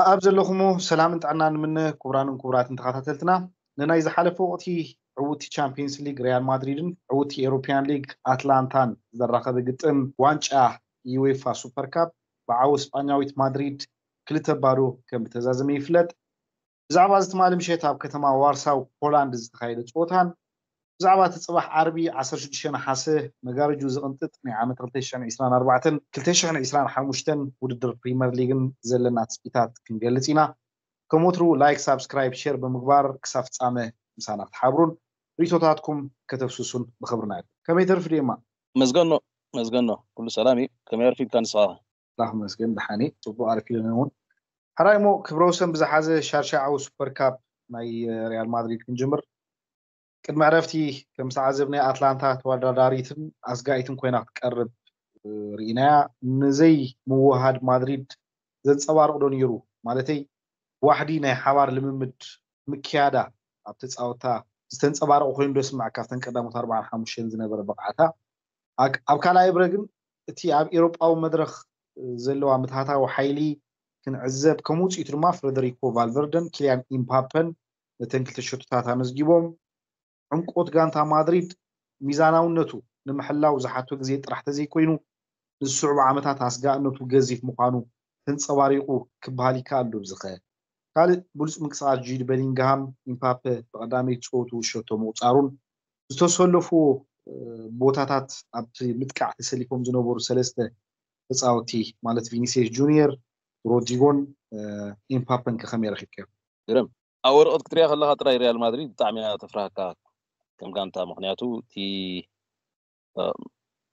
ኣብ ዘለኹሞ ሰላምን ጥዕናን ንምነ። ክቡራንን ክቡራትን ተኸታተልትና፣ ንናይ ዝሓለፈ ወቕቲ ዕውቲ ቻምፒየንስ ሊግ ሪያል ማድሪድን ዕውቲ ኤሮፒያን ሊግ ኣትላንታን ዘራኸበ ግጥም ዋንጫ ዩኤፋ ሱፐር ካፕ ብዓወት ስጳኛዊት ማድሪድ ክልተ ባዶ ከም ዝተዛዘመ ይፍለጥ። ብዛዕባ እዚ ትማሊ ምሸት ኣብ ከተማ ዋርሳው ፖላንድ ዝተኻየደ ፀወታን ብዛዕባ እቲ ፅባሕ ዓርቢ ዓሰርተ ሽዱሽተ ነሓሰ መጋረጁ ዝቕንጥጥ ናይ ዓመት ክልተ ሽሕን ዕስራን ኣርባዕተን ክልተ ሽሕን ዕስራን ሓሙሽተን ውድድር ፕሪመር ሊግን ዘለና ትፅቢታት ክንገልፅ ኢና። ከም ወትሩ ላይክ፣ ሳብስክራይብ፣ ሼር ብምግባር ክሳብ ፍፃመ ምሳና ክትሓብሩን ርእይቶታትኩም ከተፍስሱን ብኽብርና እዩ። ከመይ ተርፍ ዴማ? መዝገኖ መዝገኖ፣ ኩሉ ሰላም እዩ። ከመይ ኣርፊድካ ንስኻ? ኣምላኽ ይመስገን፣ ደሓን እየ። ጽቡቕ ኣርፊደና እውን። ሕራይ እሞ፣ ክብረ ወሰን ብዝሓዘ ሻድሻይ ዓወት ሱፐር ካፕ ናይ ሪያል ማድሪድ ክንጅምር። ቅድሚ ዕረፍቲ ከም ዝተዓዘብናዮ፣ ኣትላንታ ተወዳዳሪትን ኣስጋኢትን ኮይና ክትቀርብ ርኢናያ። ንዘይ ምውሃድ ማድሪድ ዘንጸባርቕ ዶ ነይሩ? ማለተይ፣ ዋሕዲ ናይ ሓባር ልምምድ ምክያዳ ኣብ ተጻወታ ዝተንጸባረቐ ኮይኑ ዶ ስምዓካ? ካብተን ቀዳሞት ኣርባዓን ሓሙሽተን ዝነበረ ብቕዓታ። ኣብ ካልኣይ ብረ ግን እቲ ኣብ ኤውሮጳዊ መድረኽ ዘለዋ ምትሃታዊ ሓይሊ ክንዕዘብ፣ ከም ውጽኢቱ ድማ ፍረደሪኮ ቫልቨርደን ኪልያን ኢምፓፐን ነተን ክልተ ሸቶታት ኣመዝጊቦም። ዕምቆት ጋንታ ማድሪድ ሚዛናውነቱ ንምሕላው ዝሓቶ ግዜ ጥራሕ ተዘይኮይኑ፣ ንዝስዕቡ ዓመታት ኣስጋእነቱ ገዚፍ ምዃኑ ተንጸባሪቑ ክበሃል ይከኣል ዶ ብዝኸ? ካልእ ብሉጽ ምንቅስቓስ ጁድ በሊንግሃም፣ ኢምፓፐ ብቐዳመይቲ ጸወቱ ሸቶ ምቑጻሩን ዝተሰለፉዎ ቦታታት ኣብቲ ምጥቃዕ ተሰሊፎም ዝነበሩ ሰለስተ ተጻወቲ ማለት ቪኒሲየስ ጁኒየር፣ ሮድሪጎን ኢምፓፐን ከ ከመይ ረኺብካዮ? ግርም። ኣብ ወረቐት ክትሪኣ ከለኻ ጥራይ ሪያል ማድሪድ ብጣዕሚ እያ ተፍርሃካ ከም ጋንታ። ምኽንያቱ እቲ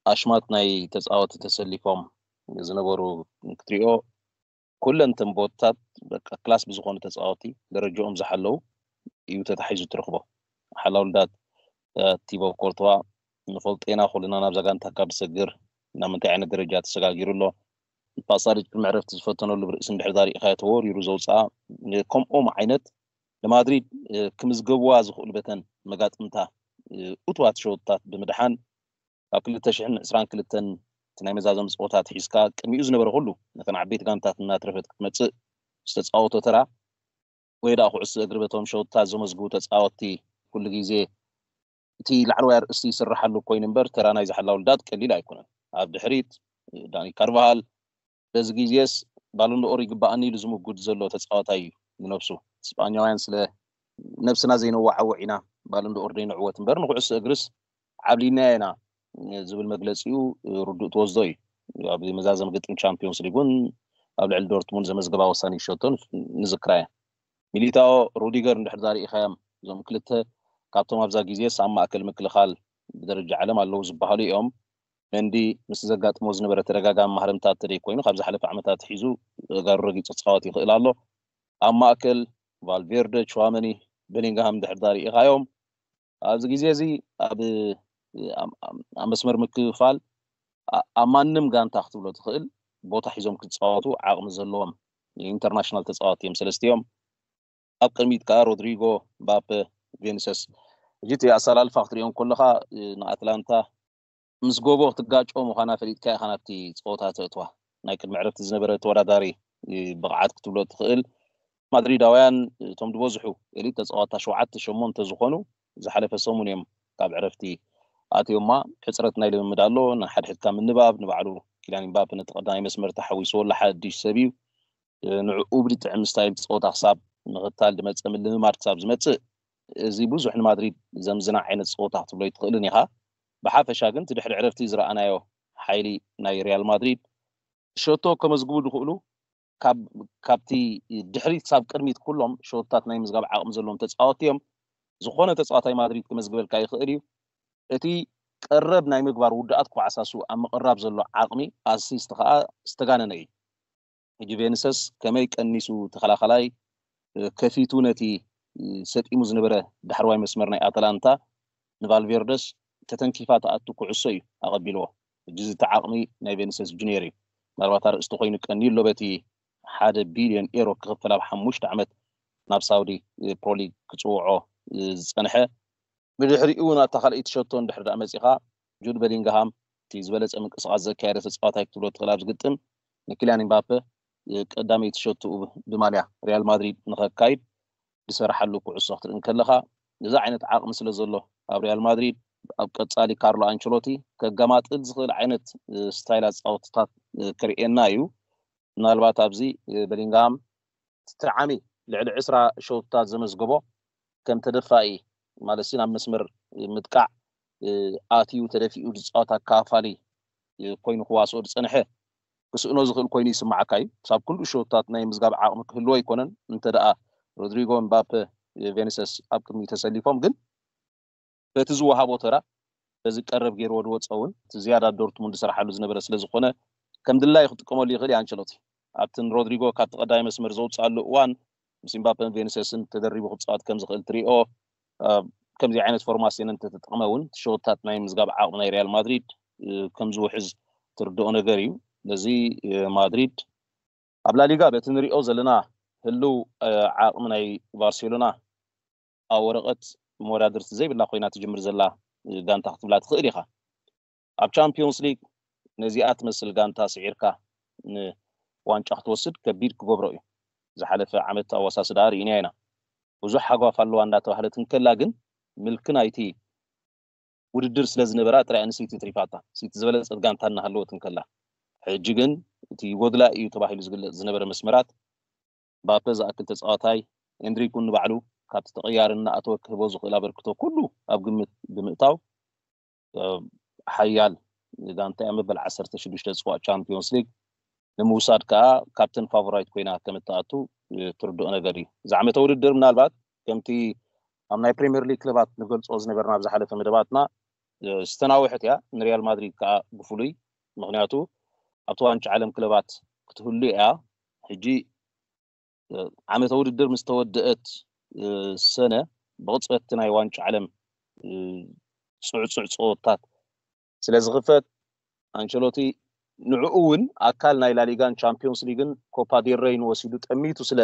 ኣሽማት ናይ ተጻወቲ ተሰሊፎም ዝነበሩ ክትሪኦ፣ ኩለን እተን ቦትታት በቃ ክላስ ብዝኾኑ ተጻወቲ ደረጃኦም ዝሓለዉ እዩ ተታሒዙ ትረኽቦ። ሓላውልዳት ቲቦ ኮርትዋ ንፈልጦ ኢና ኩልና፣ ናብዛ ጋንታ ካብ ዝሰግር ናብ ምንታይ ዓይነት ደረጃ ተሰጋጊሩ ኣሎ። ፓሳሪጅ ቅድሚ ዕረፍቲ ዝፈተነሉ ብርእሲ እንድሕር ዳሪእኻዮ ተወሪሩ ዘውፅኣ ከምኦም ዓይነት ንማድሪድ ክምዝገብዋ ዝኽእሉ በተን መጋጥምታ እቱዋት ሸወጥታት ብምድሓን ካብ ክልተ ሽሕን ዕስራን ክልተን እቲ ናይ መዛዘሚ ፀወታ ኣትሒዝካ ቅድሚኡ ዝነበረ ኩሉ ነተን ዓበይቲ ጋንታት እናትረፈት ክትመፅእ ዝተፃወቶ ተራ ወይ ደኣ ኩዕሶ እግሪ በቶም ሸወጥታት ዘመዝግቡ ተፃወትቲ ኩሉ ግዜ እቲ ላዕለዋይ ኣርእስቲ ይስርሓሉ ኮይኑ እምበር ተራ ናይ ዝሓላ ውልዳት ቀሊል ኣይኮነን። ኣብ ድሕሪት ዳኒ ካርቫሃል በዚ ግዜስ ባሎንዶኦር ይግባኣኒ ኢሉ ዝምጉድ ዘሎ ተፃዋታይ እዩ ንነብሱ። ስጳኛውያን ስለ ነብስና ዘይነዋዓውዕ ኢና ባሎንዶኦር ዘይንዕወት እምበር ንኩዕሶ እግርስ ዓብሊናዮ ኢና ዝብል መግለፂኡ ርዱእ ትወስዶ እዩ። ኣብ መዛዘሚ ግጥም ቻምፒዮንስ ሊግ እውን ኣብ ልዕሊ ዶርትሙንድ ዘመዝገባ ወሳኒ ሸቶ ንዝክራ እያ። ሚሊታኦ፣ ሩዲገር እንድሕር ዳርኢኻዮም እዞም ክልተ ካብቶም ኣብዛ ግዜስ ኣብ ማእከል ምክልኻል ብደረጃ ዓለም ኣለዉ ዝበሃሉ እዮም። መንዲ ምስ ዘጋጥሞ ዝነበረ ተደጋጋሚ ማህረምታት ተደይ ኮይኑ ካብ ዝሓለፈ ዓመታት ሒዙ ተጋሩ ረጊጹ ክጻወት ይኽእል ኣሎ። ኣብ ማእከል ቫልቬርደ፣ ቹዋመኒ፣ ቤሊንግሃም እንድሕር ዳርኢኻዮም ኣብዚ ግዜ እዚ ኣብ ኣብ መስመር ምክፍፋል ኣብ ማንም ጋንታ ክትብሎ ትኽእል ቦታ ሒዞም ክጻወቱ ዓቕሚ ዘለዎም ኢንተርናሽናል ተጻወቲ እዮም ሰለስቲኦም። ኣብ ቅድሚት ከኣ ሮድሪጎ፣ ምባፔ፣ ቬኒሰስ። ሕጂ እቲ ኣሰላልፋ ክትሪኦ እንከለኻ ንኣትላንታ ምስ ጎቦ ክትጋጮ ምዃና ፈሊጥካ ኢኻ ናብቲ ጸወታ ተእትዋ። ናይ ቅድሚ ዕረፍቲ ዝነበረ ተወዳዳሪ ብቕዓት ክትብሎ ትኽእል። ማድሪዳውያን እቶም ዝበዝሑ ኤሊት ተጻወታ ሸውዓተ ሸሞንተ ዝኾኑ ዝሓለፈ ሰሙን እዮም ካብ ዕረፍቲ ኣትዮማ። ሕጽረት ናይ ልምምድ ኣሎ። ንሓድሕድካ ምንባብ፣ ንባዕሉ ኪልያን ምባፔ ነቲ ቀዳማይ መስመር ተሓዊስዎ ኣሎ። ሓድሽ ሰብ እዩ። ንዕኡ ብልጥዕም ስታይል ጸወታ ክሳብ ምኽታል ዝመጸ ምልምማድ ክሳብ ዝመጽእ፣ እዚ ብዙሕ ንማድሪድ ዘምዝና ዓይነት ጸወታ ክትብሎ ኣይትኽእልን ኢኻ። ብሓፈሻ ግን እቲ ድሕሪ ዕረፍቲ ዝረኣናዮ ሓይሊ ናይ ሪያል ማድሪድ፣ ሸቶ ከመዝግቡ ዝኽእሉ ካብቲ ድሕሪት ክሳብ ቅድሚት ኩሎም ሸቶታት ናይ ምዝጋብ ዓቕሚ ዘለዎም ተጻወቲ እዮም። ዝኾነ ተጻዋታይ ማድሪድ ክመዝግበልካ ይኽእል እዩ። እቲ ቀረብ ናይ ምግባር ውድኣት ክበዓሳሱ ኣብ ምቕራብ ዘሎ ዓቕሚ ኣሲስት ከኣ ዝተጋነነ እዩ። ሕጂ ቬንሰስ ከመይ ቀኒሱ ተኸላኸላይ ከፊቱ ነቲ ሰጢሙ ዝነበረ ዳሕረዋይ መስመር ናይ ኣተላንታ ንቫልቬርደስ ተተንኪፋ ትኣቱ ኩዕሶ እዩ ኣቐቢልዎ። ሕጂ እዚ እቲ ዓቕሚ ናይ ቬንሰስ ጁኒየር እዩ። ምናልባት ኣርእስቲ ኮይኑ ቀንዩ ኣሎ በቲ ሓደ ቢልዮን ኤሮ ክኽፈል ኣብ ሓሙሽተ ዓመት ናብ ሳውዲ ፕሮሊግ ክጽውዖ ዝጸንሐ። ብድሕሪኡ ናብታ ካልኣይቲ ሸቶ እንድሕር ደኣ መጺኻ ጁድ በሊንግሃም እቲ ዝበለጸ ምንቅስቓስ ዘካየደ ተጻዋታይ ክትብሎ ትኽእል ኣብዚ ግጥም ንኪልያን ምባፔ ቀዳመይቲ ሸትኡ ብማልያ ሪያል ማድሪድ ንኸካይድ ዝሰራሓሉ ኩዕሶ ክትርኢ እንከለኻ፣ እዚ ዓይነት ዓቕሚ ስለ ዘሎ ኣብ ሪያል ማድሪድ፣ ኣብ ቀጻሊ ካርሎ ኣንቸሎቲ ከገማጥል ዝኽእል ዓይነት ስታይል ኣጻወትታት ክርእየና እዩ። ምናልባት ኣብዚ በሊንግሃም ትዓሚ ልዕሊ ዕስራ ሸውታት ዘመዝገቦ ከም ተደፋኢ ማለት ናብ መስመር ምጥቃዕ ኣትዩ ተደፊኡ ዝፃወት ኣካፋሊ ኮይኑ ክዋስኦ ዝፀንሐ ክስእኖ ዝኽእል ኮይኑ ይስማዓካ እዩ። ክሳብ ክንድኡ ሸውታት ናይ ምዝጋብ ዓቕሚ ክህልዎ ኣይኮነን። እንተ ደኣ ሮድሪጎ፣ ምባፔ፣ ቬኒሰስ ኣብ ቅድሚ ተሰሊፎም ግን በቲ ዝወሃቦ ተራ በዚ ቀረብ ገይርዎ ዝወፀ እውን እቲ ዝያዳ ዶርትሙንድ ዝሰርሓሉ ዝነበረ ስለ ዝኾነ ከም ድላዩ ክጥቀመሉ ይኽእል እዩ ኣንቸሎቲ። ኣብቲ ንሮድሪጎ ካብቲ ቀዳማይ መስመር ዘውፅኣሉ እዋን ምስ ምባፔን ቬኒሰስን ተደሪቡ ክፃወት ከም ዝኽእል ትሪኦ። ከምዚ ዓይነት ፎርማሲዮን እንተተጠቕመ እውን ሸወታት ናይ ምዝጋብ ዓቕሚ ናይ ሪያል ማድሪድ ከም ዝውሕዝ ትርድኦ ነገር እዩ። ስለዚ ማድሪድ ኣብ ላሊጋ በቲ ንሪኦ ዘለና ህልው ዓቕሚ ናይ ባርሴሎና ኣብ ወረቐት መወዳድርቲ ዘይብላ ኮይና ትጅምር ዘላ ጋንታ ክትብላ ትኽእል ኢኻ። ኣብ ቻምፒዮንስ ሊግ ነዚኣ ትመስል ጋንታ ስዒርካ ንዋንጫ ክትወስድ ከቢድ ክገብሮ እዩ። ዝሓለፈ ዓመት ኣወሳስዳ ርኢና ኢና። ብዙሕ ሃጓፍ ኣለዋ እናተባህለት እንከላ ግን ምልኪ ናይቲ ውድድር ስለ ዝነበራ ጥራይ ንሲቲ ትሪፋታ። ሲቲ ዝበለጸት ጋንታ እናሃለወት እንከላ ሕጂ ግን እቲ ይጎድላ እዩ ተባሂሉ ዝግለጽ ዝነበረ መስመራት ባፔ ዝኣክል ተጻዋታይ ኤንድሪክ እውን ንባዕሉ ካብቲ ተቐያሪ እናኣተወ ክህቦ ዝኽእል ኣበርክቶ ኩሉ ኣብ ግምት ብምእታው ሓያል ጋንታ እያ። መበል ዓሰርተ ሽዱሽተ ጽዋዕ ቻምፒዮንስ ሊግ ንምውሳድ ከዓ ካብተን ፋቮራይት ኮይና ከም እትኣቱ ትርድኦ ነገር እዩ። ዝዓመተ ውድድር ምናልባት ከምቲ ኣብ ናይ ፕሪምየር ሊግ ክለባት ንገልጾ ዝነበርና ኣብ ዝሓለፈ መደባትና ዝተናውሐት እያ። ንሪያል ማድሪድ ከዓ ብፍሉይ ምክንያቱ ኣብቲ ዋንጫ ዓለም ክለባት ክትህሉ እያ። ሕጂ ዓመተ ውድድር ምስ ተወደአት ሰነ ብቕፅበት ናይ ዋንጫ ዓለም ፅዕፁዕ ፀወታት ስለ ዝኽፈት ኣንቸሎቲ ንዕኡ እውን ኣካል ናይ ላሊጋን ቻምፒዮንስ ሊግን ኮፓ ዴል ሬይን ወሲዱ ጠሚቱ ስለ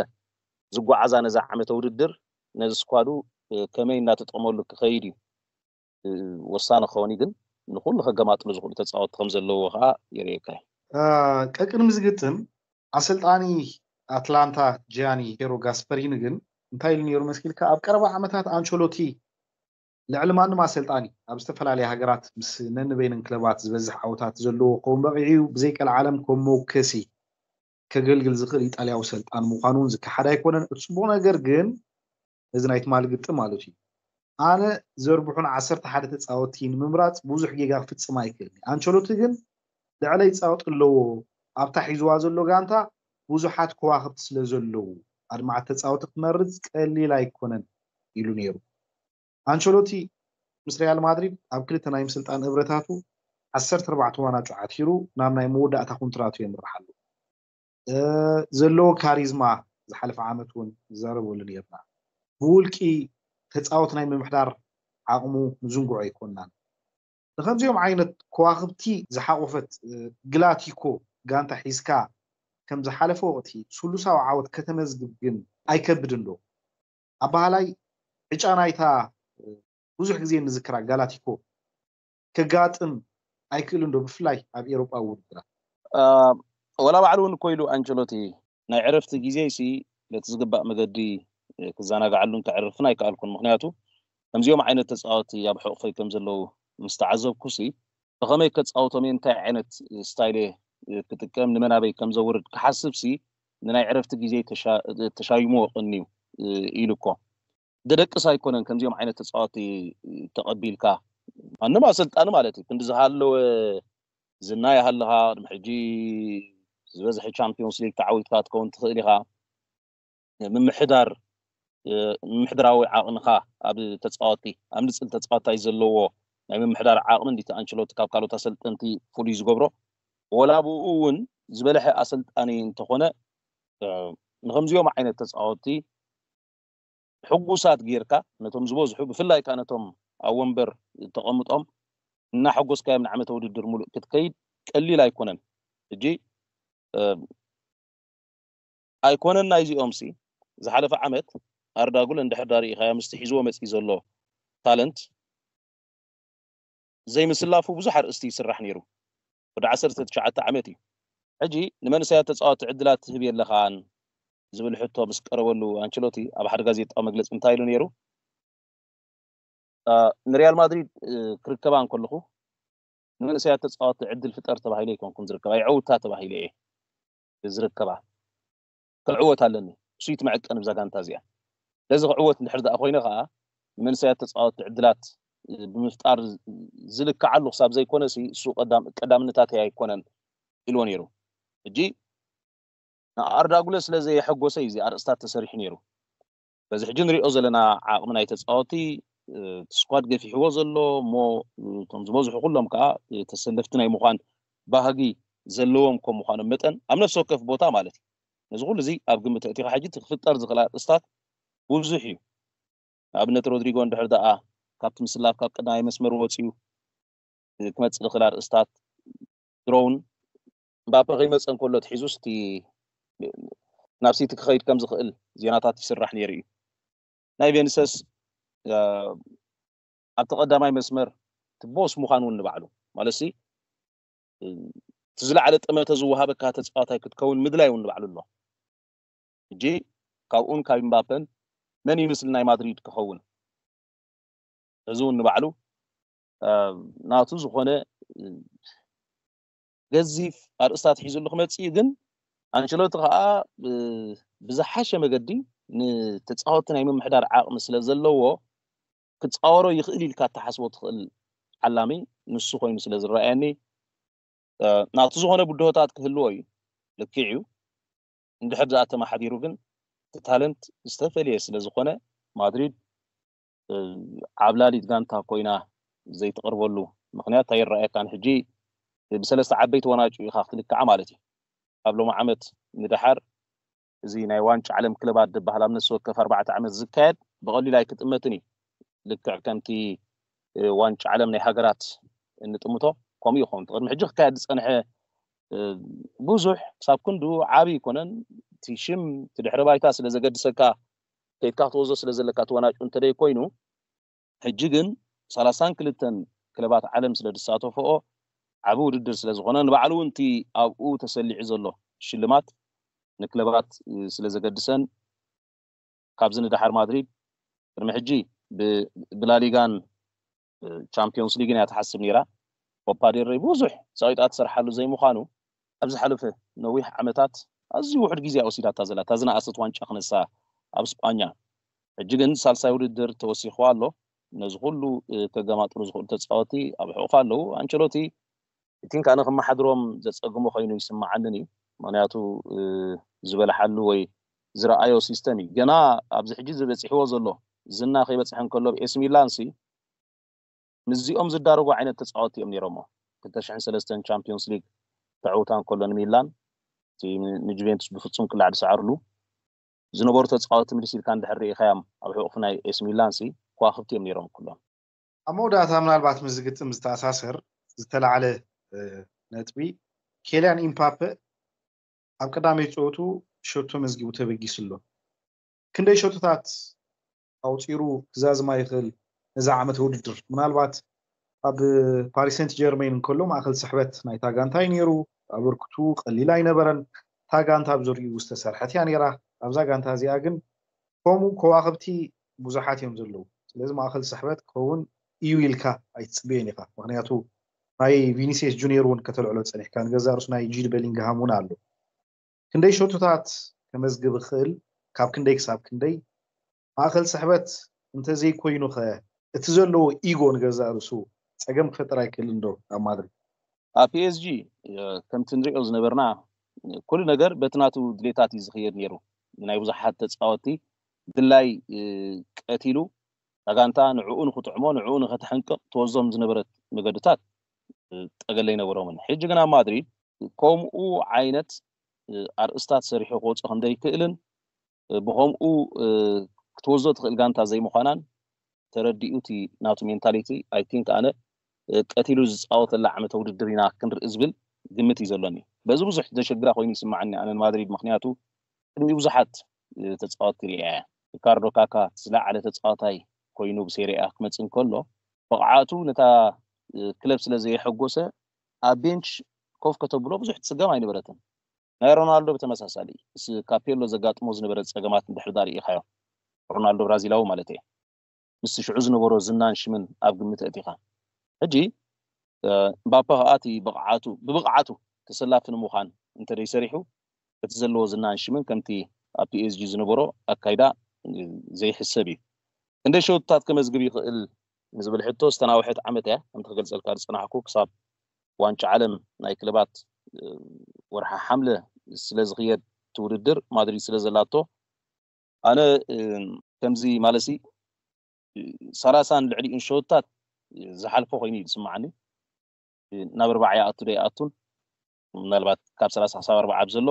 ዝጓዓዛ ነዛ ዓመተ ውድድር ነዚ ስኳዱ ከመይ እናተጠቕመሉ ክኸይድ እዩ ወሳኒ ክኸውን እዩ። ግን ንኩሉ ከገማጥሉ ዝኽእሉ ተፃወትቲ ከም ዘለዎ ከዓ የርእየካ እዩ። ቀቅድሚ ዝግጥም ኣሰልጣኒ ኣትላንታ ጂያኒ ሄሮ ጋስፐሪኒ ግን እንታይ ኢሉ ነይሩ መስኪልካ? ኣብ ቀረባ ዓመታት ኣንቸሎቲ ልዕሊ ማንም ኣሰልጣኒ ኣብ ዝተፈላለያ ሃገራት ምስ ነንበይነን ክለባት ዝበዝሕ ዓወታት ዘለዎ ክኸውን በቂዑ እዩ። ብዘይቀልዓለም ከም መወከሲ ከገልግል ዝኽእል ኢጣልያዊ ሰልጣን ምዃኑ እውን ዝከሓድ ኣይኮነን። እቲ ፅቡቕ ነገር ግን እዚ ናይ ትማሊ ግጥም ማለት እዩ። ኣነ ዘርብሑን ዓሰርተ ሓደ ተፃወትቲ ንምምራፅ ብዙሕ ጌጋ ክፍፅም ኣይክእልን። ኣንቸሎቲ ግን ልዕለይ ይፃወጥ ኣለዎ። ኣብታ ሒዝዋ ዘሎ ጋንታ ብዙሓት ከዋኽብቲ ስለ ዘለዉ ኣድማዓት ተፃወቲ ክመርፅ ቀሊል ኣይኮነን ኢሉ ነይሩ። ኣንቸሎቲ ምስ ሪያል ማድሪድ ኣብ ክልተ ናይ ምስልጣን እብረታቱ ዓሰርተ ኣርባዕተ ዋናጩ ዓቲሩ ናብ ናይ መወዳእታ ኮንትራቱ የምርሓሉ። ዘለዎ ካሪዝማ ዝሓለፈ ዓመት እውን ዝዛረበሉ ነርና። ብውልቂ ተፃወት ናይ ምምሕዳር ዓቕሙ ንዝንግዖ ኣይኮናን። ንከምዚኦም ዓይነት ከዋክብቲ ዝሓቆፈት ግላቲኮ ጋንታ ሒዝካ ከም ዝሓለፈ ወቅቲ ስሉሳዊ ዓወት ከተመዝግብ ግን ኣይከብድን ዶ? ኣባሃላይ ዕጫ ናይታ ብዙሕ ግዜ ንዝክራ ጋላቲኮ ከጋጥም ኣይክእልን ዶ? ብፍላይ ኣብ ኤሮጳዊ ውድድራት። ወላ ባዕሉ እውን እኮ ኢሉ ኣንቸሎቲ ናይ ዕረፍቲ ግዜ ሲ በቲ ዝግባእ መገዲ ክዘናግዓሉን ከዕርፍን ኣይከኣልኩን። ምክንያቱ ከምዚኦም ዓይነት ተፃወቲ ኣብ ሕቑፈይ ከም ዘለዉ ምስ ተዓዘብኩ ሲ ብኸመይ ከፃውቶም እየ፣ እንታይ ዓይነት ስታይል እየ ክጥቀም፣ ንመናበይ ከም ዘውርድ ክሓስብ ሲ ንናይ ዕረፍቲ ግዜ ተሻይምዎ ቀንዩ ኢሉ እኮ ደደቅስ ኣይኮነን ከምዚኦም ዓይነት ተፃወቲ ተቐቢልካ ማንም ኣሰልጣኒ ማለት እዩ ክንዲ ዝሃለወ ዝና ይሃልኻ ቅድሚ ሕጂ ዝበዝሐ ቻምፒዮንስ ሊግ ተዓዊትካ ትከውን ትኽእል ኢኻ። ምምሕዳር ምምሕድራዊ ዓቕንኻ ኣብ ተፃወቲ ኣብ ንፅል ተፃወታይ ዘለዎ ናይ ምምሕዳር ዓቕሚ እንዲቲ ኣንቸሎቲ ካብ ካልኦት ኣሰልጠንቲ ፍሉይ ዝገብሮ ወላ ብኡ እውን ዝበለሐ ኣሰልጣኒ እንተኾነ ንከምዚኦም ዓይነት ተፃወቲ ሕጉሳት ጌርካ ነቶም ዝበዝሑ ብፍላይ ከዓ ነቶም ኣብ ወንበር ተቐምጦም እናሐጎስካዮም ንዓመተ ውድድር ሙሉእ ክትከይድ ቀሊል ኣይኮነን። ሕጂ ኣይኮነን ናይዚኦም ሲ ዝሓለፈ ዓመት ኣርዳጉል እንድሕር ዳርኢኻዮ ምስቲ ሒዝዎ መፂ ዘሎ ታለንት ዘይምስላፉ ብዙሕ ኣርእስቲ ይስራሕ ነይሩ። ወዲ ዓሰርተ ትሽዓተ ዓመት እዩ ሕጂ ንመንእሰያት ተጻወቲ ዕድላት ትህብ የለኻን ዝብል ሕቶ ምስ ቀረበሉ፣ ኣንቸሎቲ ኣብ ሓደ ጋዜጣዊ መግለጺ እንታይ ኢሉ ነይሩ? ንሪያል ማድሪድ ክርከባ እንከለኹ፣ ንመንእሰያት ተጻወቲ ዕድል ፍጠር ተባሂለ ኣይኮንኩን ዝርከባ፣ ይዕውታ ተባሂለ እየ ዝርከባ። ክዕወት ኣለኒ፣ እሱ እቲ መዐቀኒ ብዛ ጋንታ እዚኣ። ስለዚ ክዕወት እንድሕር ደኣ ኮይነ ከዓ፣ ንመንእሰያት ተጻወቲ ዕድላት ብምፍጣር ዝልክዓሉ ክሳብ ዘይኮነ፣ እሱ ቀዳምነታተይ ኣይኮነን ኢልዎ ነይሩ። ሕጂ ንኣርዳ ጉለር ስለ ዘየሐጎሰ እዩ እዚ ኣርእስታት ተሰሪሑ ነይሩ። በዚ ሕጂ ንሪኦ ዘለና ዓቕሚ ናይ ተጻወቲ፣ እቲ ስኳድ ገፊሕዎ ዘሎ እሞ፣ እቶም ዝበዝሑ ኩሎም ከዓ ተሰለፍቲ ናይ ምዃን ባህጊ ዘለዎም ከም ምዃኖም መጠን፣ ኣብ ነፍሲ ወከፍ ቦታ ማለት እዩ። ነዚ ኩሉ እዚ ኣብ ግምት ኣእቲኻ ሕጂ እቲ ክፍጠር ዝኽእል ኣርእስታት ብዙሕ እዩ። ንኣብነት ሮድሪጎ እንድሕር ደኣ ካብቲ ምስላፍ ካብ ቀዳማይ መስመር ወፂኡ ክመፅእ ዝኽእል ኣርእስታት፣ ድሮውን እምባፔ ከይመፀ እንከሎ ትሒዙ ስቲ ናብ ሲቲ ክኸይድ ከም ዝኽእል ዜናታት ይስራሕ ነይሩ እዩ። ናይ ቬኒሰስ ኣብቲ ቀዳማይ መስመር ትቦስ ምዃን እውን ንባዕሉ ማለት ሲ እቲ ዝለዓለ ጠመተ ዝወሃበካ ተፃዋታይ ክትከውን ምድላይ እውን ንባዕሉ ኣሎ። ሕጂ ካብኡን ካብ ኢምባፐን መን ይመስል ናይ ማድሪድ ክኸውን? እዚ እውን ንባዕሉ ናቱ ዝኾነ ገዚፍ ኣርእስታት ሒዙሉ ክመፅእ እዩ። ግን ኣንቸሎቲ ከዓ ብዝሓሸ መገዲ ንተፃወቲ ናይ ምምሕዳር ዓቕሚ ስለ ዘለዎ ክፃወሮ ይኽእል ኢልካ እተሓስቦ ትኽእል ዓላሚ ንሱ ኮይኑ ስለ ዝረኣየኒ ናቱ ዝኾነ ብድሆታት ክህልዎ እዩ። ልክዕ እዩ። እንድሕር ዝኣተመሓዲሩ ግን እቲ ታለንት ዝተፈለየ ስለ ዝኾነ ማድሪድ ዓብላሊት ጋንታ ኮይና ዘይትቐርበሉ ምኽንያት ኣይረኣየካን። ሕጂ ብሰለስተ ዓበይቲ ወናጩ ኢኻ ክትልክዓ ማለት እዩ። ካብ ሎሚ ዓመት ንደሓር እዚ ናይ ዋንጫ ዓለም ክለባት ዝበሃል ኣብ ነፍሲ ወከፍ ኣርባዕተ ዓመት ዝካየድ ብቐሊል ኣይክጥመትን እዩ። ልክዕ ከምቲ ዋንጫ ዓለም ናይ ሃገራት እንጥምቶ ከምኡ ይኸውን። ቅድሚ ሕጂ ክካየድ ዝፀንሐ ብዙሕ ክሳብ ክንዱ ዓብዪ ይኮነን። እቲ ሽም እቲ ድሕረ ባይታ ስለ ዘገድሰካ ከይድካ ክትወዞ ስለ ዘለካ እቲ ወናጩ እንተደይ ኮይኑ ሕጂ ግን ሰላሳን ክልተን ክለባት ዓለም ስለ ዝሳተፈኦ ዓቢ ውድድር ስለ ዝኾነ ንባዕሉ እውን እቲ ኣብኡ ተሰሊዑ ዘሎ ሽልማት ንክለባት ስለ ዘገድሰን ካብዚ ንደሓር ማድሪድ ቅድሚ ሕጂ ብላሊጋን ቻምፒዮንስ ሊግን እያ ትሓስብ ነይራ። ኮፓ ዴል ሬይ ብዙሕ ጸቂጣ ትሰርሓሉ ዘይምዃኑ ኣብ ዝሓለፈ ነዊሕ ዓመታት ኣዝዩ ውሑድ ግዜ ወሲዳታ ዘላ እታ ዝነኣሰት ዋንጫ ክነሳ ኣብ ስጳኛ። ሕጂ ግን ሳልሳይ ውድድር ተወሲኽዋ ኣሎ። ነዚ ኩሉ ከገማጥሩ ዝኽእሉ ተጻወቲ ኣብ ሕቑፋ ኣለዉ። ኣንቸሎቲ እቲ ኣነ ክመሓድሮም ዘጸግሞ ኮይኑ ይስምዓንን እዩ። ምክንያቱ ዝበልሓሉ ወይ ዝረኣዮ ሲስተም እዩ። ገና ኣብዚ ሕጂ ዝበፂሕዎ ዘሎ ዝና ከይበፅሐ እንከሎ ኤሲ ሚላን ሲ ምስዚኦም ዝዳረጉ ዓይነት ተፃወቲ እዮም ነይሮሞ። ክልተ ሽሕን ሰለስተን ቻምፒዮንስ ሊግ ተዕውታ እንከሎ ንሚላን እቲ ንጁቬንቱስ ብፍፁም ክላዕ ዝሰዓርሉ ዝነበሩ ተፃወቲ ምልስ ኢልካ እንድሕር ርኢኻዮም ኣብ ሕቑፍ ናይ ኤሲ ሚላን ሲ ከዋክብቲ እዮም ነይሮም ኩሎም። ኣብ መወዳእታ ምናልባት ምስ ዝግጥም ዝተኣሳሰር ዝተላዕለ ነጥቢ ኬልያን ኢምፓፐ ኣብ ቀዳመይ ጨወቱ ሸቶ መዝጊቡ ተበጊሱ ኣሎ። ክንደይ ሸቶታት ኣውፂሩ ክዛዝማ ይኽእል ነዚ ዓመት ውድድር? ምናልባት ኣብ ፓሪስ ሴንት ጀርሜን እንከሎ ማእኸል ስሕበት ናይታ ጋንታ እዩ ነይሩ። ኣበርክቱ ቀሊል ኣይነበረን። እታ ጋንታ ኣብ ዙሪኡ ዝተሰርሐት እያ ነይራ። ኣብዛ ጋንታ እዚኣ ግን ከምኡ ከዋኽብቲ ብዙሓት እዮም ዘለዉ። ስለዚ ማእኸል ስሕበት ክኸውን እዩ ኢልካ ኣይትፅበዮን ኢኻ። ምክንያቱ ናይ ቪኒሲየስ ጁኒየር እውን ከተልዕሎ ፀኒሕካ፣ ንገዛ ርሱ ናይ ጂድ በሊንግሃም እውን ኣሎ። ክንደይ ሸቶታት ከመዝግብ ይኽእል፣ ካብ ክንደይ ክሳብ ክንደይ፣ ማእኸል ስሕበት እንተዘይኮይኑ ኸ እቲ ዘለዎ ኢጎ ንገዛ ርሱ ፀገም ክፈጥር ኣይክእልን ዶ ኣብ ማድሪድ? ኣብ ፒኤስጂ ከምቲ ንሪኦ ዝነበርና ኩሉ ነገር በቲ ናቱ ድሌታት እዩ ዝኽየድ ነይሩ። ናይ ብዙሓት ተፃወቲ ድላይ ቀቲሉ እታ ጋንታ ንዕኡ ንኽጥዕሞ ንዕኡ ንኸተሐንቅቕ ትወዞም ዝነበረት መገድታት ጠገለ ኣይነበሮምን። ሕጂ ግን ኣብ ማድሪድ ከምኡ ዓይነት ኣርእስታት ሰሪሑ ክወፅእ ከም ዘይክእልን ብኸምኡ ክትወዞ ትኽእል ጋንታ ዘይምዃናን ተረዲኡ እቲ ናቱ ሜንታሊቲ ኣይ ቲንክ ኣነ ቀቲሉ ዝፃወተላ ዓመተ ውድድር ኢና ክንርኢ ዝብል ግምት እዩ ዘሎኒ። በዚ ብዙሕ ዘሸግራ ኮይኑ ይስማዓኒ ኣነ ንማድሪድ፣ ምክንያቱ ቅድሚ ብዙሓት ተፃወትቲ ሪኣ እያ። ሪካርዶ ካካ ዝለዓለ ተፃዋታይ ኮይኑ ብሴሪኣ ክመፅእ እንከሎ ብቕዓቱ ነታ ክለብ ስለ ዘየሐጎሰ ኣብ ቤንች ኮፍ ከተብሎ ብዙሕ ትፅገም ኣይነበረትን። ናይ ሮናልዶ ብተመሳሳሊ ምስ ካፔሎ ዘጋጥሞ ዝነበረ ጸገማት እንድሕር ዳ ርኢኻዮ፣ ሮናልዶ ብራዚላዊ ማለት እየ፣ ምስቲ ሽዑ ዝነበሮ ዝናን ሽምን ኣብ ግምት ኣእቲኻ፣ ሕጂ እምባፔ ከኣ እቲ ብቕዓቱ ብብቕዓቱ ተሰላፊ ንምዃን እንተደይ ሰሪሑ፣ እቲ ዘለዎ ዝናን ሽምን ከምቲ ኣብ ፒኤስጂ ዝነበሮ ኣካይዳ ዘይሕሰብ እዩ። ክንደይ ሸውትታት ከመዝግብ ይኽእል ንዝብል ሕቶ ዝተናውሐት ዓመት እያ። ከምቲ ክገልጸልካ ዝጸናሕኩ ክሳብ ዋንጫ ዓለም ናይ ክለባት ወርሓ ሓምለ ስለ ዝኽየድ እቲ ውድድር ማድሪድ ስለ ዘላቶ ኣነ ከምዚ ማለሲ ሰላሳን ልዕሊኡን ሸውትታት ዝሓልፎ ኮይኑ እዩ ዝስምዓኒ። ናብ ኣርባዓ ይኣቱ ዶ ይኣቱን ምናልባት ካብ ሰላሳ ክሳብ ኣርባዓ ኣብ ዘሎ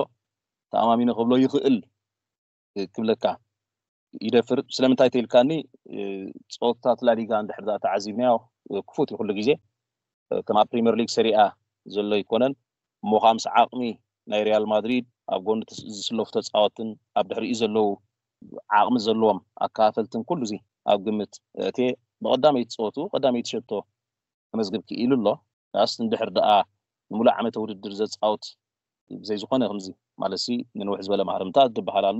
ተኣማሚነ ክብሎ ይኽእል ክብለካ ይደፍር። ስለምንታይ ተኢልካኒ፣ ጸወታት ላሊጋ እንድሕር ዳ ተዓዚብናዮ ክፉት እዩ ኩሉ ግዜ። ከም ኣብ ፕሪምየር ሊግ ሰሪኣ ዘሎ ኣይኮነን እሞ ከዓ ምስ ዓቕሚ ናይ ሪያል ማድሪድ ኣብ ጎኒ ዝስለፉ ተፃወትን ኣብ ድሕሪኡ ዘለዉ ዓቕሚ ዘለዎም ኣከፋፈልትን ኩሉ እዚ ኣብ ግምት እትየ ብቐዳመይቲ ፀወቱ ቀዳመይቲ ሸቶ ከመዝግብ ክኢሉ ኣሎ። ዳስ እንድሕር ደኣ ንሙሉእ ዓመተ ውድድር ዘፃወት ብዘይ ዝኾነ ከምዚ ማለት ሲ ንንውሕ ዝበለ ማህረምታ ዝበሃል ኣሎ።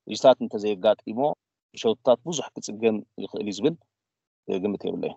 ሪስታት እንተዘየጋጢሞ ብሸውትታት ብዙሕ ክፅገም ይኽእል እዩ ዝብል ግምት የብለይ።